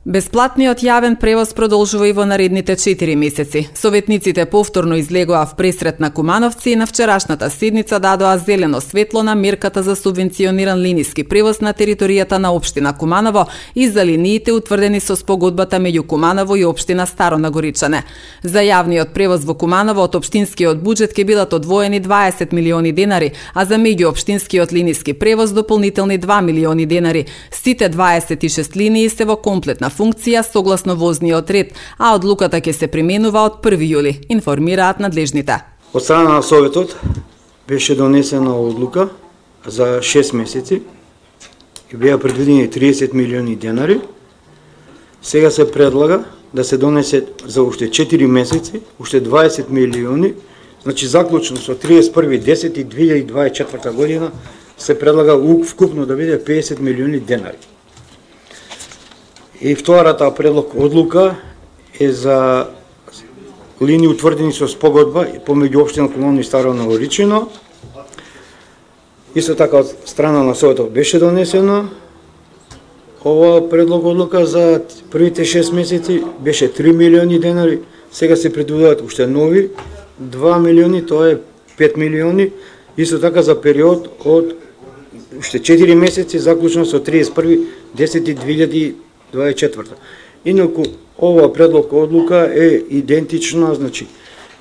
Бесплатниот јавен превоз продолжува и во наредните 4 месеци. Советниците повторно излегоа в пресрет на Кумановци и на вчерашната седница дадоа зелено светло на мерката за субвенциониран линиски превоз на територијата на општина Куманово и за линиите утврдени со спогодбата меѓу Куманово и општина Старо Нагоричане. За јавниот превоз во Куманово од општинскиот буџет ќе бидат одвоени 20 милиони денари, а за меѓуопштинскиот линиски превоз дополнителни 2 милиони денари. Сите 26 линии се во комплетна функција согласно возниот ред, а одлуката ќе се применува од 1 јули, информираат надлежните. Од страна на Советот беше донесена одлука за 6 месеци и беа предвидени 30 милиони денари. Сега се предлага да се донесе за уште 4 месеци, уште 20 милиони, значи заклучно со 31.10.2024 година се предлага вкупно да биде 50 милиони денари. И втората предлог одлука е за линии утврдени со спогодба помеѓу општина Куманово и Старо Нагоричане. Исто така од страна на Советот беше донесено ова предлог одлука за првите 6 месеци, беше 3 милиони денари, сега се предвидуваат уште нови 2 милиони, тоа е 5 милиони, исто така за период од уште 4 месеци заклучно со 31.10.2024. Инаку ова предлог одлука е идентична, значи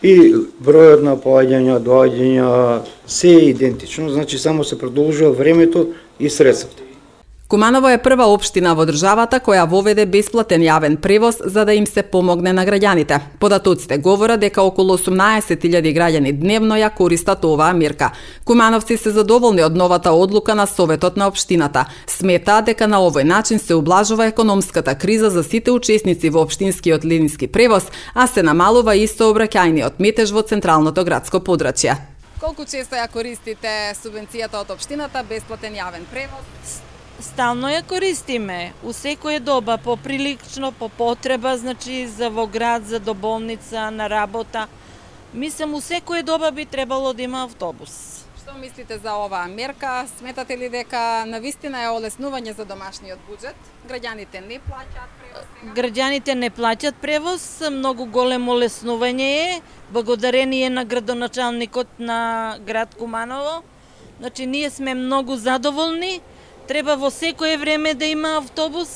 и бројот на поаѓања, доаѓања се е идентично, значи само се продолжува времето и средствата. Куманово е прва општина во државата која воведе бесплатен јавен превоз за да им се помогне на граѓаните. Податоците говорат дека околу 18.000 граѓани дневно ја користат оваа мерка. Кумановци се задоволни од новата одлука на Советот на општината. Сметаат дека на овој начин се ублажува економската криза за сите учесници во општинскиот линиски превоз, а се намалува и сообраќајниот метеж во централното градско подрачје. Колку често ја користите субвенцијата од општината бесплатен јавен превоз? Стално ја користиме, у секоја доба, поприлично, по потреба, значи за во град, за до болница, на работа. Мислам, у секоја доба би требало да има автобус. Што мислите за оваа мерка? Сметате ли дека навистина е олеснување за домашниот буџет? Граѓаните не плаќаат превоз? Граѓаните не плаќаат превоз, многу големо олеснување е, благодарение на градоначалникот на град Куманово. Значи, ние сме многу задоволни. Треба во секое време да има автобус.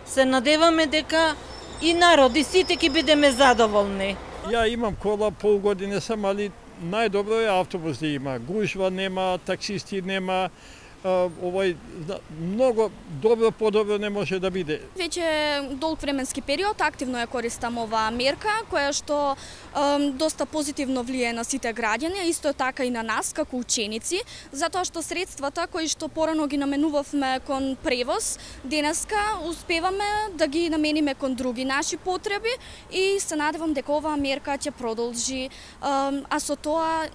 Се надеваме дека и народ, и сите ќе бидеме задоволни. Ја имам кола, пол година сам, али најдобро е автобус да има. Гужва нема, таксисти нема, овој многу добро, подобро не може да биде. Веќе долг временски период активно ја користам оваа мерка, која што доста позитивно влијае на сите граѓани, исто така и на нас како ученици, затоа што средствата кои што порано ги наменувавме кон превоз, денеска успеваме да ги намениме кон други наши потреби и се надевам дека оваа мерка ќе продолжи, а со тоа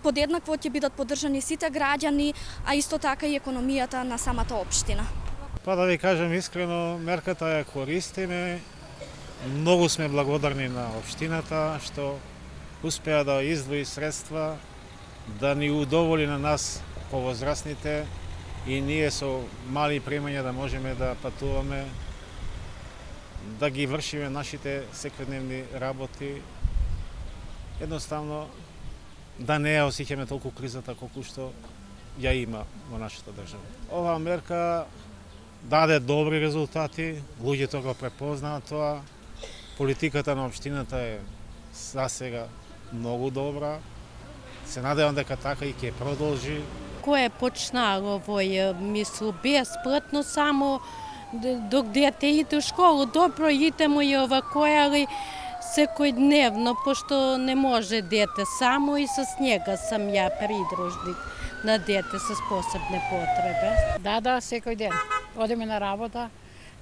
подеднакво ќе бидат поддржани сите граѓани, а исто така и економијата на самата општина. Па да ви кажам искрено, мерката ја користиме. Многу сме благодарни на општината што успеа да издвои средства да ни удоволи на нас повозрастните и ние со мали примања да можеме да патуваме, да ги вршиме нашите секојдневни работи. Едноставно да не ја осеќаме толку кризата колку што ја има во нашата држава. Оваа мерка даде добри резултати, луѓето го препознаат тоа. Политиката на општината е за сега многу добра. Се надевам дека така и ќе продолжи. Кој почнало овој мислу бесплатно само док дете иде у школу, добро идемо и овакој, али секојдневно, пошто не може дете само и с njega сам ја придружник на дете с посебни потреби. Да, секој ден. Одиме на работа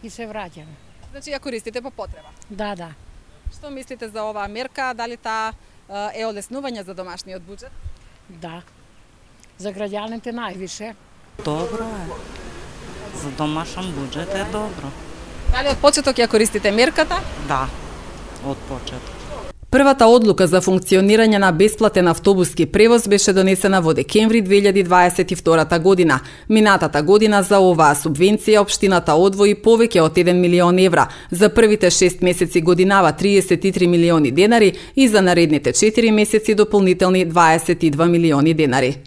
и се враќаме. Значи ја користите по потреба? Да. Што мислите за оваа мерка? Дали таа е олеснување за домашниот буџет? Да. За граѓаните највише. Добро е. За домашен буџет е добро. Дали од почеток ја користите мерката? Да, од почеток. Првата одлука за функционирање на бесплатен автобуски превоз беше донесена во декември 2022 година. Минатата година за оваа субвенција општината одвои повеќе од 1 милион евра, за првите 6 месеци годинава 33 милиони денари и за наредните 4 месеци дополнителни 22 милиони денари.